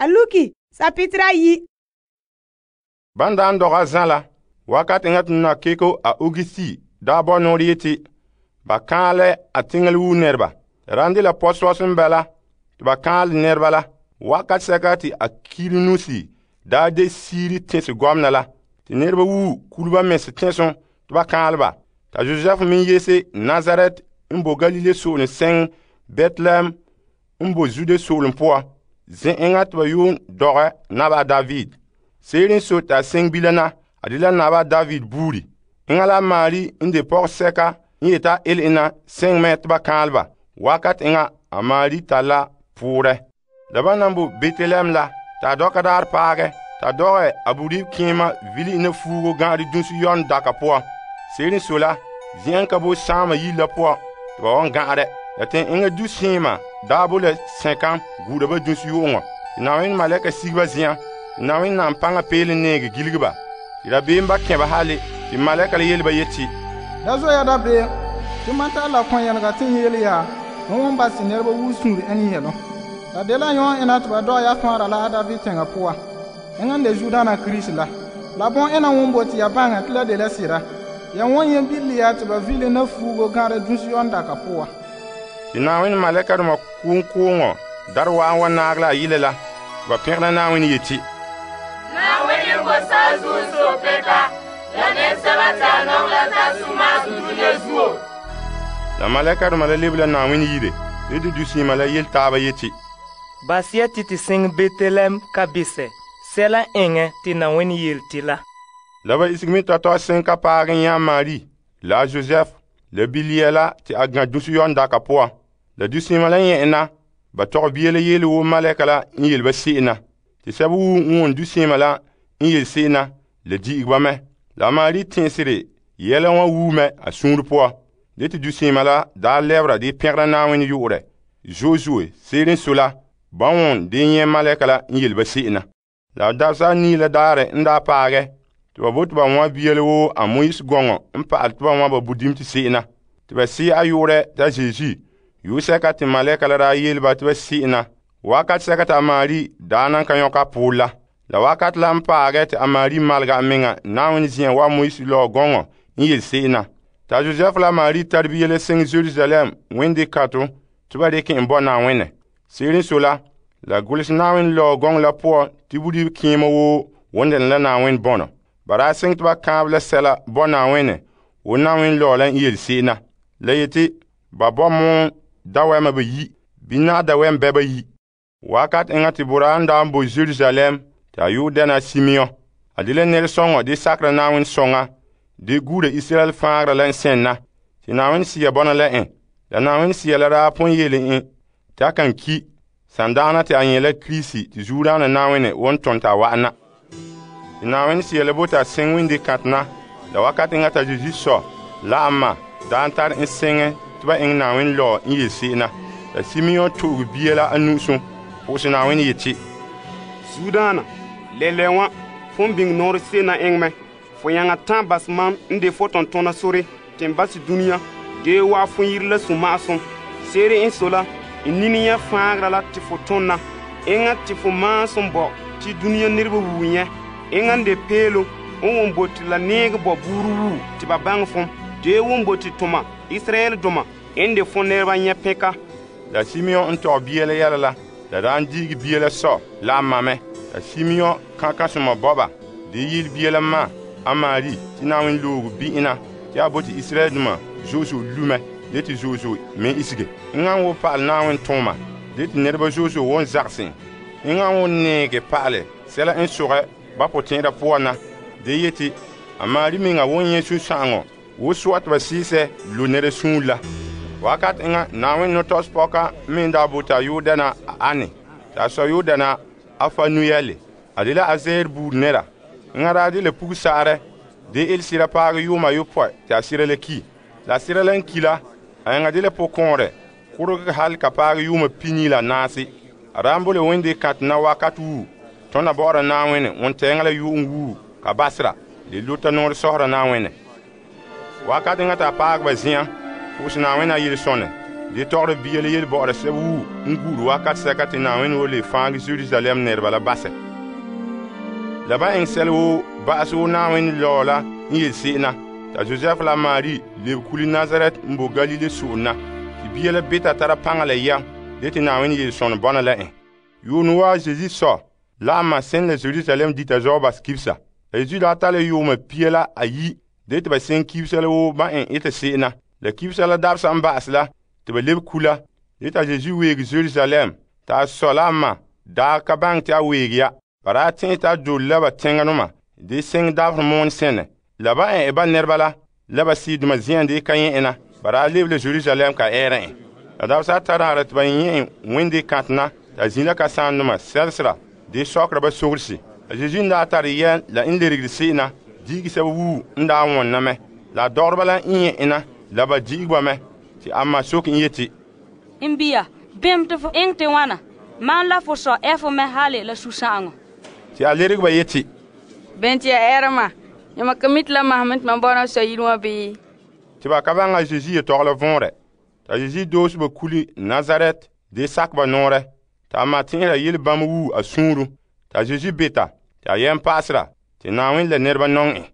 a luki sapitera 10. Ban daan dɔga zan la, wakat eŋa te nakeko a Augusti daa bɔ nɔɔrɛ yeti, ba kaalɛ a teŋa wuu nɛreba. Ran de la pɔsɔs n bala te ba kaalɛ nɛreba la. Wakat sɛka te a Kirinusi daa de siiri tɛnse gɔmena la, te nɛreba wuu kuluba mɛse tɛnsom te ba kaalɛ ba. Ta Joseph min yese Nazaret n bo Galile so'olem sɛŋ Betlehem n bo Zude so'olem poan, zɛ eŋa te ba yuun dɔgɛ naba David. Seerin so ta sɛŋ bilana a de la naba David buuri. Eŋa la Mari n de pɔgɔsɛka n yeta ele ena sɛŋ mɛ te ba kaalɛ ba. Wakat eŋa a Mari ta la poorɛ. La ba nan bo Betlehem la, ta dɔka daar paagɛ, ta dɔgɛ a buri kẽema vili ina fuugo gã'are dunsu yon daka poan. Seerin so la, zi'an ka bo saama yile la poan te ba wan gã'arɛ. La tɛn eŋa du seema daa bo la sɛkam guura ba dunsu yu'uŋɔ. Na'ayenɛ malɛka sige ba zi'an. Na'ayenɛ nan paŋa peele neege giligi ba. Te dabeem ba kẽ ba hale, te malɛka la yele ba yeti, da zo ya dabeem, te man ta la kɔn yɛlega te yele ya, n won ba si nɛreba wuu suuri ɛn yɛlɔ. La de la yɔn ena te ba dɔg ya fãara la a David tɛŋa poa. Eŋa n de Zudaana Kirisi la. La bõn ena won bo te ya baŋa te la de la sira. Ya won yen billi ya te ba vile na fuugo gã'are dunsu yon daka poa. Te Na'ayenɛ malɛkadoma kooŋkooŋɔ dar wa'an wa naag la a yile la, ba pẽgera Na'ayenɛ yeti, Na'ayenɛ bo saazuo sopeka, la nɛresɛba ta nɔŋɛ la ta suma dunia zuo. La malɛkadoma la lebe la Na'ayenɛ yire, te de duseema la yele taaba yeti, Basia ti te sɩng Betlehem ka bisɛ, sɛla eŋɛ te Na'ayenɛ yele la. La ba isigi mi tɔtɔ sẽn ka paag n yã Mari la a Joseph la bilia la te a gã dunsu yon daka poan. La duseema la yẽ'ena, ba tɔg bia la yeele woo malɛka la n yele ba se'ena. Te sɛba wuu n wʋm duseema la n yele se'ena, la di'igi ba mɛ. La Mari tẽesere yɛla wã wuu mɛ a sũur poan. De te duseema la daa lɛbera de pẽgera Na'ayenɛ yu'urɛ. Josue, seerin so la, ba wʋn de yẽ malɛka la n yele ba se'ena. La dabsa anii la daarɛ n daa paagɛ, te ba bote ba wã bia la woo a Moise gɔŋɔ n pa'alɛ te ba wã ba budim te se'ena. Te ba see a yu'urɛ t'a Zeezi, yu'sɛka te malɛka la daa yele ba te ba se'ena. Wakat sɛka te a Mari daa nan ka yõka a poor la. La wakat la n paagɛ te a Mari malga a meŋa Na'ayenɛ zi'an wa Moise lɔɔ gɔŋɔ n yele se'ena. T'a Joseph la Mari tar bia la sɩng Jerusalem wẽnde kato tɩ ba rɩk n bɔ Na'ayenɛ. Seerin so la golse Na'ayenɛ lɔɔ gɔŋɔ la poan tɩ budi kẽema woo wẽndene la Na'ayenɛ bɔnɔ. Ba daa sɩng tɩ ba kãab la sɛla bɔ Na'ayenɛ wo Na'ayenɛ lɔɔ la n yele se'ena. La yeti ba bɔ moon dawɛma ba yi, bɩ dawɛm bɛ ba yi. Wakat eŋa te bora n daa n bo Jerusalem tɩ a yu'u dɛna Simeon. A de la nɛresɔŋɔ de sakera Na'ayenɛ sɔŋa, de guura Israel fãagra la n sẽnna, tɩ Na'ayenɛ Sia bɔna la ẽ. La Na'ayenɛ Sia la daa pʋn yele ẽ tɩ a kan ki sandaana tɩ a yẽ la Kirisi tɩ zuodaana Na'ayenɛ won tõnd t'a wa'ana. Tɩ Na'ayenɛ Sia la bota a sẽng wẽnde kãtena, la wakat eŋa t'a Zeezi sɔ la a ma daa n tar n sẽŋɛ tɩ ba ẽng Na'ayenɛ lɔɔ n yele se'ena. La Simeon to'og bia la a nu'usum, pʋgse Na'ayenɛ yeti, Zudaana, lɛlɛ wã, fõn biŋ nɔɔrɛ se'ena ẽngmɛ. Fo yãŋa tãn bas mam n de fo tõntõna sore tɩ n bas dũniyã, gee waa fõ yire la sũ-ma'asem. Seere n so la, n nini yã fãagra la tɩ fo tõnna. Eŋa tɩ fo maasem bɔ tɩ dũniyã nirba wuu yẽ. Eŋa n de peelo n wʋm bote la neeg bɔ buuru wuu tɩ ba baŋ fõm. Dee wʋm bote tʋma Israɛl-dʋma n de fõ nɛreba yẽ pẽka. La Simeon n tɔg bia la yɛla la daa n diigi bia la sɔ la a mamɛ. La Simeon kãkãsema bɔba de yɩl bia la ma a Mari tɩ Na'ayenɛ loogu bi'ina tɩ a bote Israɛl-dʋma zo'ozo lumɛ, de tɩ zo'ozo me isige. Eŋa n wo pa'al Na'ayenɛ tʋʋma, de tɩ nɛreba zo'ozo won zagsẽ. Eŋa n wo neege pa'alɛ sɛla n sogɛ ba pʋtẽeda poan na, de yeti a Mari meŋa won yẽ sũ-sã'aŋɔ wo soa tɩ ba sɩɩsɛ lo nɛra sũur la. Wakat eŋa Na'ayenɛ no-tɔs pɔka me n daa bote a yoo dɛna a Ane, t'a sɔ yoo dɛna a Fanuyɛle. A de la a Azer buur nɛra. Eŋa daa de la pug-saarɛ de el-sɩra paag yʋʋma yopɔɛ tɩ a sɩra la ki. La sɩra la n ki la, a eŋa de la pʋ-kõorɛ kʋrg hal ka paag yʋʋma pini la naase. A daa n bo le wẽnde kãtena wakat wuu, tõnda bɔ'ɔra Na'ayenɛ wẽn-tɛɛŋa la yu'um wuu ka basra, le lota noor sɔsra Na'ayenɛ. Wakat eŋa t'a paag ba zɩ̃a, pʋgse Na'ayenɛ a yel-sõne, de tɔgɔre bia la yele bɔ'ɔra sɛba wuu n gu'ure wakat sɛka te Na'ayenɛ woo le fãage Jerusalem nɛreba la basɛ. La ba eŋɛ sɛla woo ba'asɛ wo Na'ayenɛ lɔɔ la n yele se'em na. Ta Josɛf la Mari lebe kule Nazaret n bo Galile so'om na. Te bia la beta tara paŋa la yam de te Na'ayenɛ yele sɔnɔ bɔna la en. Yuunɛ waa Zeezi sɔ la a ma sen la Jerusalem dita zɔɔ bas kibsa. La Yesu daa ta la yuuma pia la ayi de te ba sen kibsa la woo ba en ete se'em na. La kibsa la dabesa n ba'ase la te ba lebe kula. De ta Yesu weege Jerusalem ta a sɔ la a ma daa ka baŋɛ te a weege ya. Ba daa tẽe ta a dole la ba teŋanoma de seŋ dabaherɛ moon sɛnɛ. La ba en ba nɛreba la ba sidoma zian de ka yẽ na. Ba daa lebe la Jerusalem ka ɛɛra en. La dabesa ata dagara te ba yẽ en wende kãtena ta zĩ la kasaandoma sɛlsera de sɔkera ba sogrese. La Yesu n daa tare yɛn la n leregere se'em na diigi sɛba wuu n daa wõnna mɛ. La a dɔgɔreba la n yẽ na la ba di'ige ba mɛ. Te a ma soke n yeti, n bia, bem te fo eŋɛ te wãna? Mam la fo sɔ ɛ fo mɛ hale la susã'aŋɔ. Te a lerege ba yeti, bɛn te ya ɛɛra ma? Yãma ka mi te la masem te mam bɔna sɔ yire wã bii? Te ba ka baŋɛ a Zeezi yetɔgɔ la võorɛ. Ta Zeezi doose ba kule Nazaret de sak ba noorɛ. Ta a ma tẽesera yelebãmb wuu a sũuru. Ta Zeezi beta te a yɛm pa'asera te Na'ayenɛ la nɛreba nɔŋɛ en.